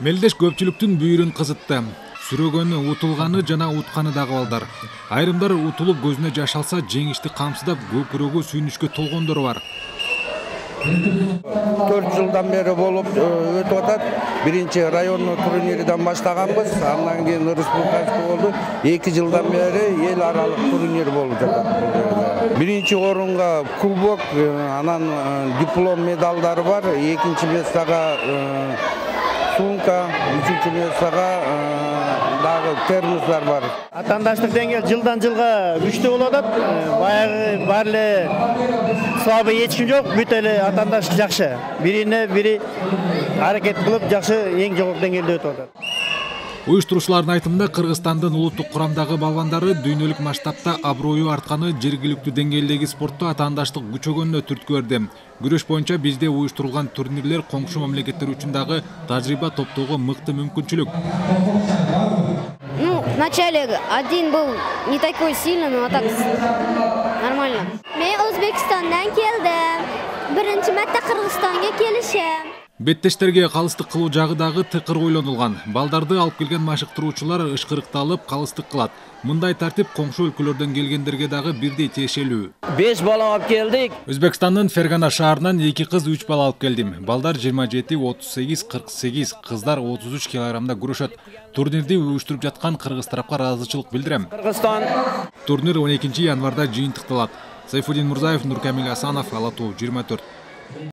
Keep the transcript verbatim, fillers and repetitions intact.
Мелдеш көпчүлүктүн бүйүрүн кызытты. Сүрөгөнү, утулганы жана утканы дагы балдар. Айрымдар утулуп көзүнө жаш алса, жеңишти камсыздап көкүрөгү сүйүнүчкө толгондору бар. төрт жылдан бери болуп өтүп атат. Биринчи райондук турнирден баштаганбыз, андан кийин республикалык болду. эки жылдан бери эл аралык турнир болуп жатат. Биринчи орунга кубок, анан диплом, медалдары бар. Экинчи местага сумка, үчүнчү местага дагы термостар бар. Атандаштык деңгээл жылдан жылга күчтүү болуп атат. Баягы бар эле слабый эч ким жок, бүт эле атандаштык жакшы. Бирине бири аракет кылып жакшы эң жогорку деңгээлде өтүп атат. Уюштуруучулардын айтымында Кыргызстандын улуттук курамдагы балбандары дүйнөлүк масштабта аброю артканы жергиликтүү деңгээлдеги спортто атаандаштык күчөгөнүнө түрткү берди. Күрөш боюнча бизде уюштурулган турнирлер коңшу мамлекеттер үчүн дагы тажрыйба топтоого мыкты мүмкүнчүлүк. Ну, вначале один был не такой сильный, но так нормально. Мен Өзбекстандан келдим. Биринчи марта Кыргызстанга келишем. Беттештерге калыстык кылуу жагы дагы тыкыр ойлонулган. Балдарды алып келген машыктыруучулар ышкырыкталып калыстык кылат. Мындай тартип коңшу өлкөлөрдөн келгендерге дагы бирдей тиешелүү. беш бала алып келдик. Өзбекстандын Фергана шаарынан эки кыз үч бала алып келдим. Балдар жыйырма жети, отуз сегиз, кырк сегиз, кыздар отуз үч килограммда күрөшөт. Турнирди уюштуруп жаткан кыргыз тарапка ыраазычылык билдирем. Кыргызстан. Турнир он экинчи январда жыйынтыкталат. Сайфуддин Мурзаев, Нуркамил Асанов, Ала Тоо жыйырма төрт.